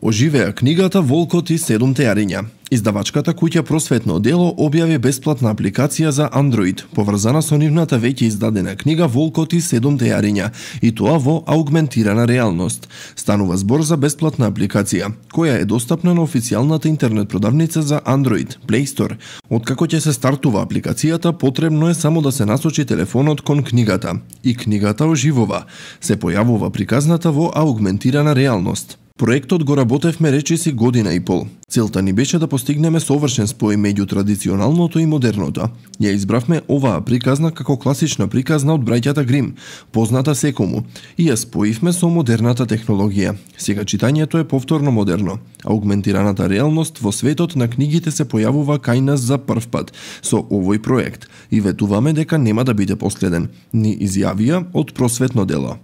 Оживеа книгата Волкот и 7 јариња. Издавачката куќа Просветно дело објави бесплатна апликација за Android, поврзана со нивната веќе издадена книга Волкот и 7 јариња, и тоа во аугментирана реалност. Станува збор за бесплатна апликација, која е достапна на официјалната интернет продавница за Android, Play Store. Откако ќе се стартува апликацијата, потребно е само да се насочи телефонот кон книгата, и книгата оживува. Се појавува приказната во аугментирана реалност. Проектот го работевме речиси година и пол. Целта ни беше да постигнеме совршен спој меѓу традиционалното и модерното. Ја избравме оваа приказна како класична приказна од браќата Грим, позната секому, и ја споивме со модерната технологија. Сега читањето е повторно модерно. Аугментираната реалност во светот на книгите се појавува кај нас за прв пат со овој проект и ветуваме дека нема да биде последен, ни изјавија од Просветно дело.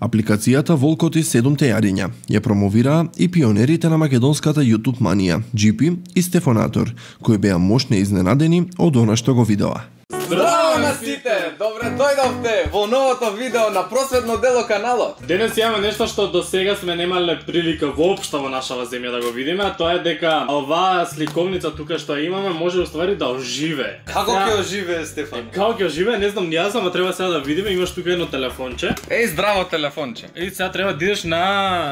Апликацијата Волкот и 7 јариња ја промовираа и пионерите на македонската YouTube манија, GP и Стефонатор, кои беа мощно изненадени од она што го видоа. Здраво на сите! Добре дојдовте во новото видео на Просветно дело каналот. Денес имаме нешто што до сега сме немале прилика воопшто во нашава земја да го видиме, а тоа е дека оваа сликовница тука што имаме може уствари да оживее. Како ќе оживее, Стефан? Како ќе оживее, не знам, јас ама треба сега да видиме, имаш тука едно телефонче. Еј, здраво телефонче. И сега треба да идеш на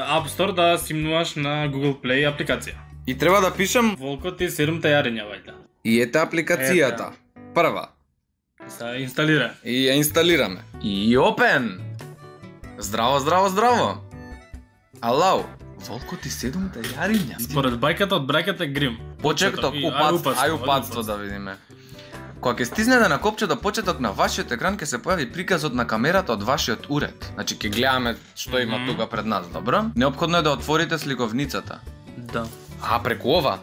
App Store да симнуваш на Google Play апликација. И треба да пишем Волкот и 7 јариња вајда. и ете апликацијата. Прва. Се инсталира. И ја инсталираме. И open. Здраво, здраво, здраво. Алау. Волкот и 7 јариња. Според бајката од браќата Грим. Почеток, упатство да видиме. Кога ќе стиснете на копчето почеток на вашиот екран ќе се појави приказот на камерата од вашиот уред. Значи ќе гледаме што има тука пред нас, добро? Неопходно е да отворите сликовницата. Да. Преку ова?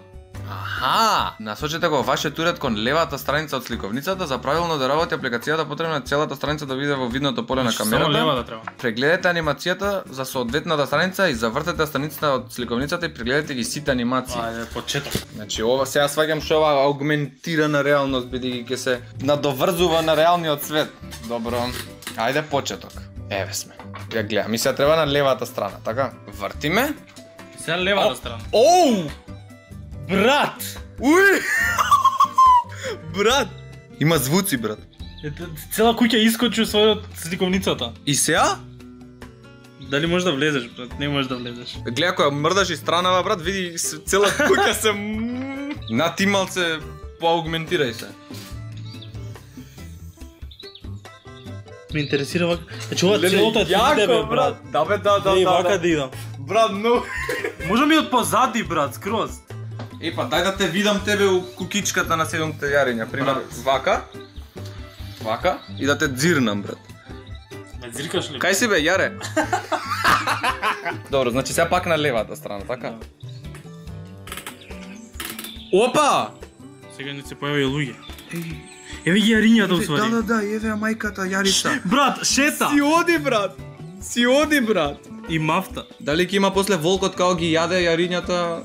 Аха! Насочете го вашиот уред кон левата страница од сликовницата. За правилно да работи апликацијата потребно е целата страница да биде во видното поле на камерата. Само левата треба. Прегледете анимацијата за соодветната страница и завртете страницата од сликовницата и прегледате ги сите анимации. Ајде, почеток. Значи ова сега сваќам што ова аугментирана реалност бидејќи ќе се надоврзува на реалниот свет. Добро. Ајде почеток. Еве сме. Ја гледам. И сега треба на левата страна, така? Вртиме. Сега левата страна. Оу! Брат! Уј! Брат! Има звуци, брат. Цела куќа искочи од сликовницата. И сега? Дали можеш да влезеш, брат? Не можеш да влезеш. Гледа кога мрдаш и странава, брат, види цела куќа се на ти малце поаугментирај се. Ме интересира вака. Значи ова целото е тебе, брат. Да бе, да. Вака да идам. Брат, но Може ми од позади, брат, скроз. Епа, дај да те видам тебе у кукичката на 7 јариња, пример, вака. Вака и да те дзирнам, брат. Ме дзиркаш ли? Кај си бе, јаре? Добро, значи сега пак на левата страна, така? Опа! Сега не се појави луѓе. Еве ги јарињата усвари. Да, еве мајката Јарица. Брат, шета. Си оди, брат. И мафта. Дали ќе има после волкот као ги јаде јарињата?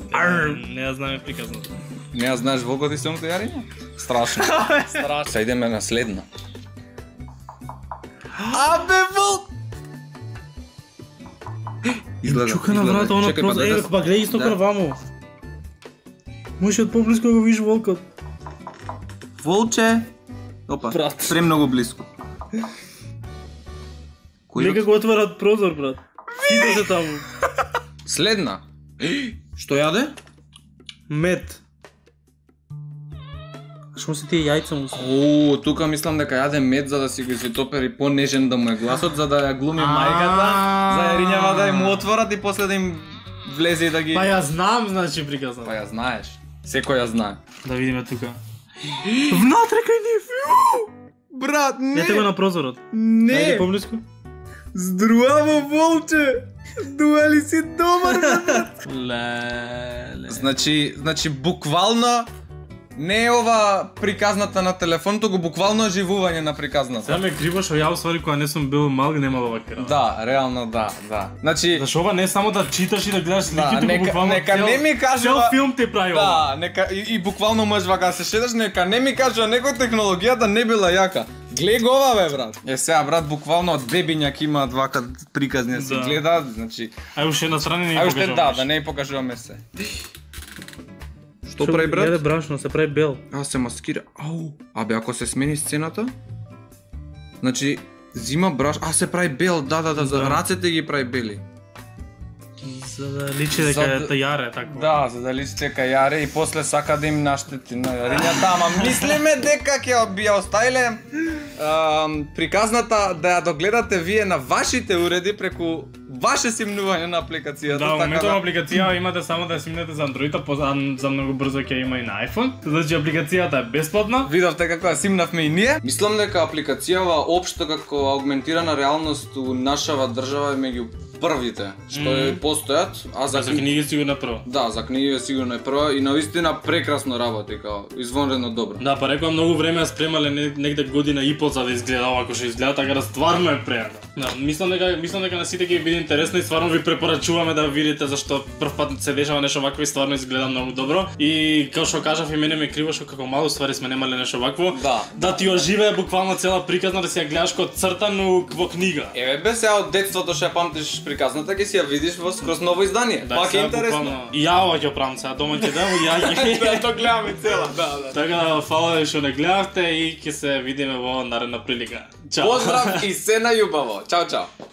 Не ја знаме приказната. Не ја знаеш волкот и 7 јариња? Страшно. Страшно. Сега идеме на следна. Абе волк! Чука на врата, она просто, па гледај исто крвамо. Може од поблиску да го видиш волкот. Волче. Опа, Брат. премногу блиску. Нека го отварат прозор, брат. Сите се таму. Следна. Што јаде? Мед. Шо се тие јајца му се? О, тука мислам дека јаде мед за да си го изотопери понежен да му е гласот, за да ја глуми мајката, за јарињава да му отворат и после да им влезе и да ги... Па ја знам, значи приказна. Па ја знаеш. Секој ја знае. Да видиме тука. Внатре кај нив. Брат, Ете го на прозорот. Не. Ајде поблиску. Здраво, волче! Дуели си добар, Леле. Значи буквално Не е ова приказната на телефон, туку буквално оживување на приказната. Сега ме криво што ја уствари кога не сум бил мал немал ова кера. Да, реално да. Значи, зашо ова не само да читаш и да гледаш слики, туку буквално нека не ми кажува цел филм те прави ова. Да, нека и буквално можеш вака се шедаш, нека не ми кажува некој технологијата не била јака. Глеј го ова бе брат. Сега брат буквално од бебињак имаат вака приказни се гледаат, значи. Ај уште на страна не ја покажуваме. Да не ја покажуваме се. Што прави брат? Јаде брашно, се прави бел. Се маскира. Ау. Абе ако се смени сцената? Значи зима браш, се прави бел, да, за рацете ги прави бели. За да личи дека е тајаре, така. Да, за да личи дека јаре и после сака да им наштети на рињата, ама мислиме дека ќе ја оставиле приказната да ја догледате вие на вашите уреди преку ваше симнување на апликацијата. Да, моментот апликација имате само да симнете за Android, за многу брзо ќе има и на iPhone. Значи апликацијата е бесплатна. Видовте како ја симнавме и ние. Мислам дека апликацијава општо како аугментирана реалност у нашава држава е меѓу првите што постојат, а за книги сигурно е прва. Да, за книги сигурно е прва и навистина прекрасно работи, као извонредно добро. Да, па рекувам многу време ја спремале негде година и пол за да изгледа овако што изгледа, така да стварно е пријатно. Да, мислам дека на сите ќе биде интересно и стварно ви препорачуваме да видите зашто прв пат се дешава нешто вакво и стварно изгледа многу добро. И како што кажав и мене ме криво што како мало ствари сме немале нешто вакво. Да ти оживее буквално цела приказна да си ја гледаш како цртано во книга. Еве бе сега од детството што ја памтиш приказната ќе си ја видиш во скроз ново издание. Пак е интересно. И ја ова ќе правам сега дома ќе дам и ја ќе тоа гледаме цела. Да. Така да фала што не гледавте и ќе се видиме во наредна прилика. Чао. Поздрав и се најубаво. Чао.